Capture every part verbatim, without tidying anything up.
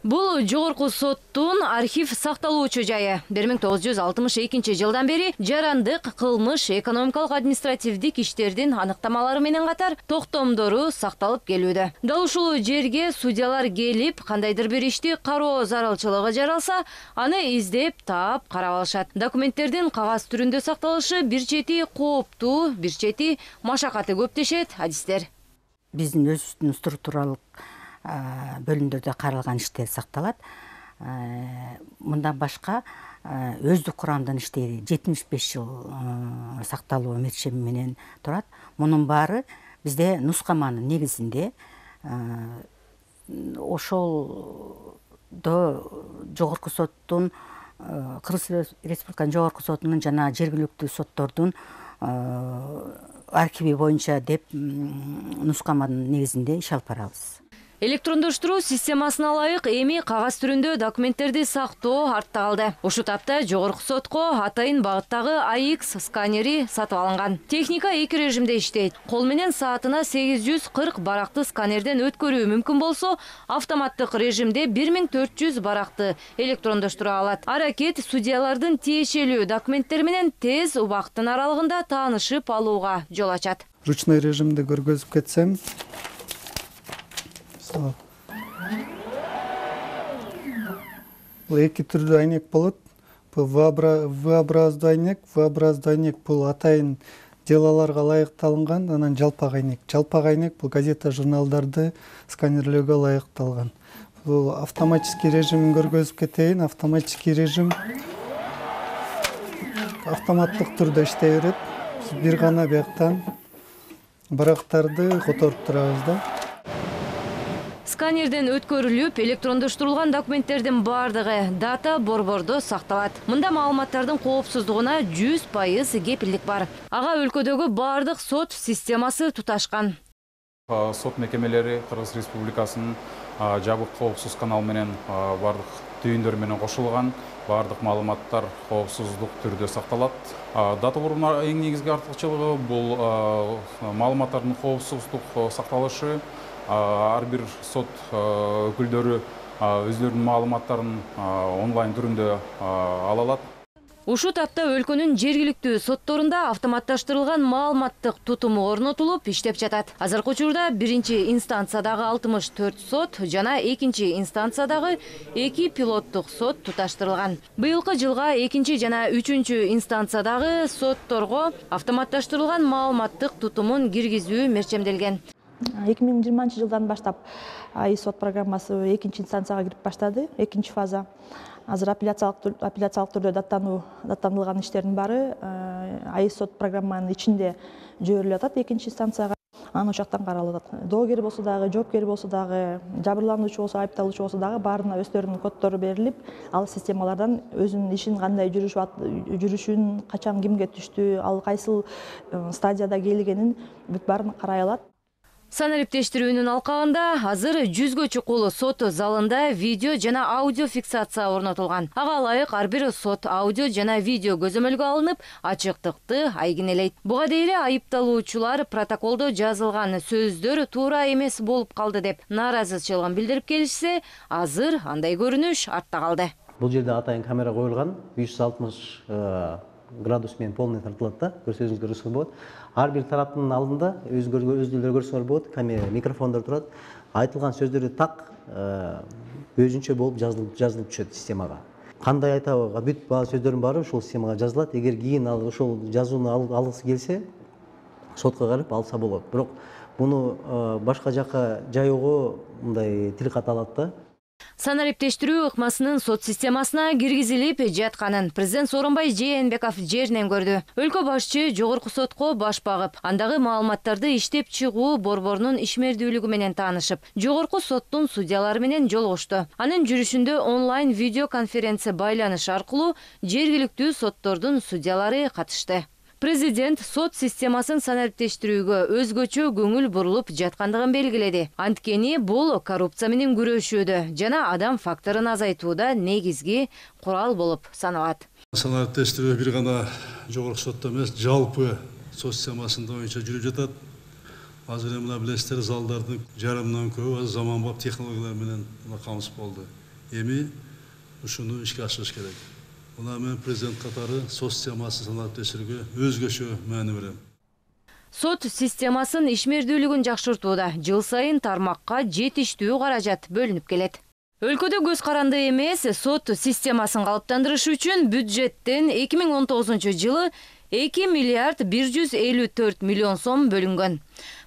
Бул жогорку соттун архив сакталуучу жайы. бир миң тогуз жүз алтымыш экинчи жылдан бери жарандык, кылмыш, экономикалык, административдик иштердин аныктамалары менен катар токтомдору сакталып келүүдө. Дал ушул жерге судьялар келип, кандайдыр бир ишти кароо зарылчылыгы жаралса, аны издеп, таап, карап алышат. Документтердин кагаз түрүндө сакталышы бир чети кооптуу, бир чети машакаты көп дешет адистер. Биздин өзүбүздүн структуралык бөлүмдөрдө каралган иштер сакталат. Мындан башка өздүк курамдан иштейди. жетимиш беш жыл сакталуу мерчеми менен турат. Мунун баары бизде нускаманын негизинде ошолдо жогорку соттун, Кыргыз Республиканын жогорку сотунун жана жергиликтүү соттордун архиви боюнча деп нускаманын негизинде иш алып барабыз. Электрондоштуруу системасына ылайык эми кагаз түрүндө документтерди сактоо артта калды. Ушул тапта жогорку сотко атайын багыттагы А X сканери сатып алынган. Техника эки режимде иштейт. Кол менен саатына сегиз жүз кырк баракты сканерден өткөрүү мүмкүн болсо, автоматтык режимде бир миң төрт жүз баракты электрондоштура алат. Аракет судьялардын тиешелүү документтери менен тез убакыттын аралыгында таанышып алууга жол ачат. Ручной режимде көргөзүп кетсем, бул эки түрдүү айнек болот. Бул V-образдуу айнек, V-образдуу айнек бул атайын делаларга ылайыкталган, анан жалпак айнек. Жалпак айнек бул газета, журналдарды сканерлөөгө ылайыкталган. Бул автоматический режимин көргөзүп кетейин. Автоматический режим автоматтык түрдө иштей берет. Биз бир гана бияктан барактарды которуп турабыз да. Сканерден өткөрүлүп, электрондоштурулган документтердин бардыгы дата борбордо сакталат. Мында маалыматтардын коопсуздугуна жүз пайыз кепилдик бар. Ага өлкөдөгү бардык сот системасы туташкан. Сот мекемелери Кыргыз Республикасынын жабык коопсуз канал менен бардык түйүндөр менен кошулган. Бардык маалыматтар коопсуздук түрдө сакталат. Дата борборунун эң негизги артыкчылыгы бул маалыматтардын коопсуздук сакталышы. Ар бир сот өкүлдөрү өздөрүнүн маалыматтарын онлайн түрүндө ала алат. Ушул тапта өлкөнүн жергиликтүү сотторунда автоматташтырылган маалыматтык тутуму орнотулуп иштеп жатат. Азыркы учурда биринчи инстанциядагы алтымыш төрт сот жана экинчи инстанциядагы эки пилоттук сот туташтырылган. Быйылкы жылга экинчи жана үчүнчү инстанциядагы сотторго автоматташтырылган маалыматтык тутумун киргизүү мерчемделген. эки миң жыйырманчы жылдан баштап А И сот программасы экинчи инстанцияга кирип баштады, экинчи фаза. Азыр апелляциялык апелляциялык түрдө даттануу даттандырылган иштердин баары А И сот программанын ичинде жиберилип атат экинчи инстанцияга. Анан ошоктон каралып атат. Доогер болсо дагы, жоопкер болсо дагы, жабырлануучу болсо, айыпталуучу болсо дагы баарына өздөрүнүн коддору берилип, ал системалардан өзүнүн ишин кандай жүрүшүн, качан кимге түштү, ал кайсыл стадияда келгенин бүт баарын карай алат. Санариптештирүүнүн алкагында азыр жүзгө чукул сот залында видео жана аудио фиксация орнотулган. Ага ылайык ар бир сот аудио жана видео көзөмөлгө алынып, ачыктыкты айгинелейт. Буга дейин айыпталуучулар протоколдо жазылган сөздөр туура эмес болуп калды деп нааразычылыгын билдирип келишсе, азыр андай көрүнүш артта калды. Бул жерде атайын камера коюлган, беш жүз алтымыш градус менен полный тартылат да, көрсөзүңүзгө көрсөңүз болот. Ар бир тараптын алдында өзүңүздөр көрсөңөр болот, камера, микрофондор турат. Айтылган сөздөрдү так өзүнчө болуп жазылып жазылып түшөт системага. Кандай айтабы, бүт баа сөздөрдүн баары ушул системага жазылат. Эгер кийин ал ошол жазууну алгысы келсе, сотко барып алса болот. Бирок муну башка жакка жайоого мындай тил ката алат да. Санариптештирүү ыкмасынын сот системасына киргизилип жатканын президент Сооронбай Жээнбеков жеринен көрдү. Өлкө башчы жогорку сотко баш багып, андагы маалыматтарды иштеп чыгуу борборунун ишмердүүлүгү менен таанышып, жогорку соттун судьялары менен жолугушту. Анын жүрүшүндө онлайн видеоконференция байланыш аркылуу жергиликтүү соттордун судьялары катышты. Президент сот системасын санариптештирүүгө өзгөчө көңүл бурулуп жаткандыгын белгиледи. Анткени бул коррупция менен күрөшүүдө жана адам факторун азайтууда негизги курал болуп саналат. Санариптештирүү бир гана жогорку сотто эмес, жалпы сот системасында боюнча жүрүп жатат. Азыр мына билесиздер, залдардын жарымынан көбү заманбап технологиялар менен камсыз болду. эми ушуну ишке ашырыш керек. Мына мен президент катары сот системасын саналып өсүрүүгө өзгөчө маани берем. Сот системасын ишмердүүлүгүн жакшыртууда жыл сайын тармакка жетиштүү каражат бөлүнүп келет. Өлкөдө көз каранды эмес сот системасын калыптандырыш үчүн бюджеттен эки миң он тогузунчу жылы эки миллиард бир жүз элүү төрт миллион сом бөлүнгөн.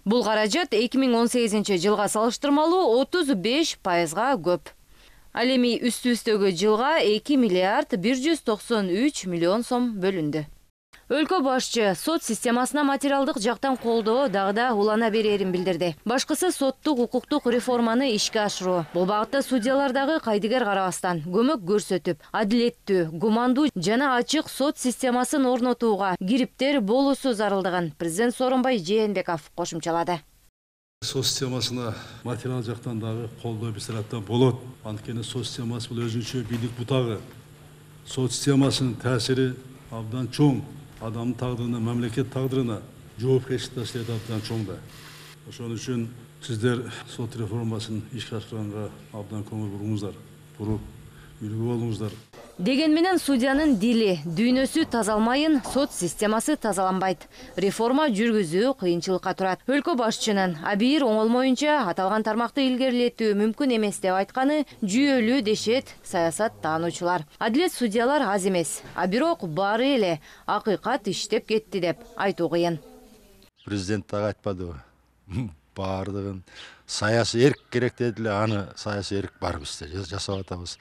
Бул каражат эки миң он сегизинчи жылга салыштырмалуу отуз беш пайызга көп. Ал эми үстү-үстөгө жылга эки миллиард бир жүз токсон үч миллион сом бөлүндү. Өлкө башчы сот системасына материалдык жактан колдоо дагы да улана берерин билдирди. Башкысы соттук укуктук реформаны ишке ашыруу. Бул багытта судьялар дагы кайдыгер карабастан көмөк көрсөтүп, адилеттүү, гумандуу жана ачык сот системасын орнотууга кириптер болуусу зарылдыгын президент Сооронбай Жээнбеков кошумчалады. Сот системасына материал жактан дагы колдоо биз тараптан болот. Анткени сот системасы бул өзүнчө бийлик бутагы. Сот системасынын таасири абдан чоң. Адамдын тагдырына, мамлекет тагдырына жоопкерчилик абдан чоң да. Ошон үчүн сиздер сот реформасын ишке ашырганга абдан көңүл буруңуздар, буруп үлгү болуңуздар. Деген менен судьянын дили, дүйнөсү тазалмайын, сот системасы тазаланбайт. Реформа жүргүзүү кыйынчылыкка турат. Өлкө башчынын абийир оңолмоюнча аталган тармакты илгерилетүү мүмкүн эмес деп айтканы жүйөлүү дешет саясат таануучулар. Адилет судьялар аз эмес, а бирок баары эле акыйкат иштеп кетти деп айтуу кыйын. Президент дагы айтпадыбы? Баардыгын саясий эрк керек дедиле, аны саясий эрк бар бизде, жасап атабыз.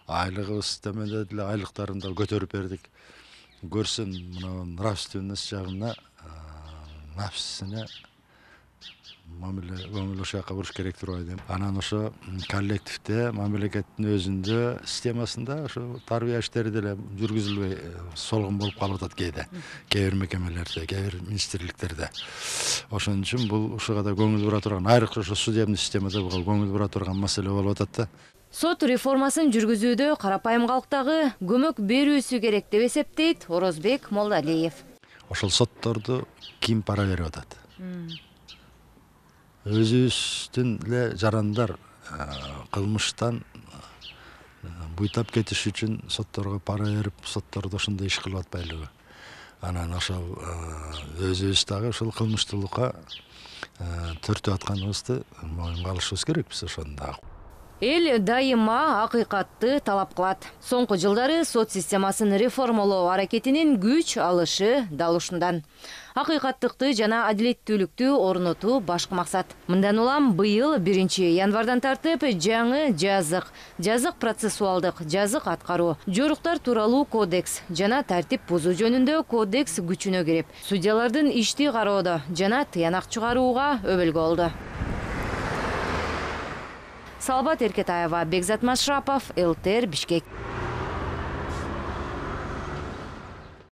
Айлыгыбыз төмөндөдү эле, айлыктарын да көтөрүп бердик. Көрсүн мына нравственность жагына, нафсисине мамиле көңүл ошол жака буруш керек деп ойлойм. Анан ошо коллективде, мамлекеттин өзүндө, системасында ошо тарбия иштери деле жүргүзүлбөй солгун болуп калып атат кээде. Кээ бир мекемелерде, кээ бир министрликтерде. Ошон үчүн бул ушуга да көңүл бура турган, айрыкча ошо судебный системада буга көңүл бура турган маселе болуп атат да. Сот реформасын жүргүзүүдө карапайым калктагы көмөк берүүсү керек деп эсептейт Орозбек Молдалиев. Ошол сотторду ким пара берип атат? Өзүбүздүн эле жарандар кылмыштан буйтап кетиш үчүн сотторго пара берип, соттордо ошондой иш кылып атпайлыбы? Анан ошол өзүбүз дагы ошол кылмыштуулукка төртүп атканыбызды моюнга алышыбыз керек биз ошондо. Эл дайыма акыйкатты талап кылат. Соңку жылдары сот системасын реформалоо аракетинин күч алышы дал ушундан. Акыйкаттыкты жана адилеттүүлүктү орнотуу башкы максат. Мындан улам быйыл биринчи январдан тартып жаңы жазык, жазык процессуалдык, жазык аткаруу, жоруктар тууралуу кодекс жана тартип бузуу жөнүндө кодекс күчүнө кирип, судьялардын ишти кароодо жана тыянак чыгарууга өбөлгө болду. Салбат Эркетаева, Бекзат Машрапов, эл тэ эр Бишкек.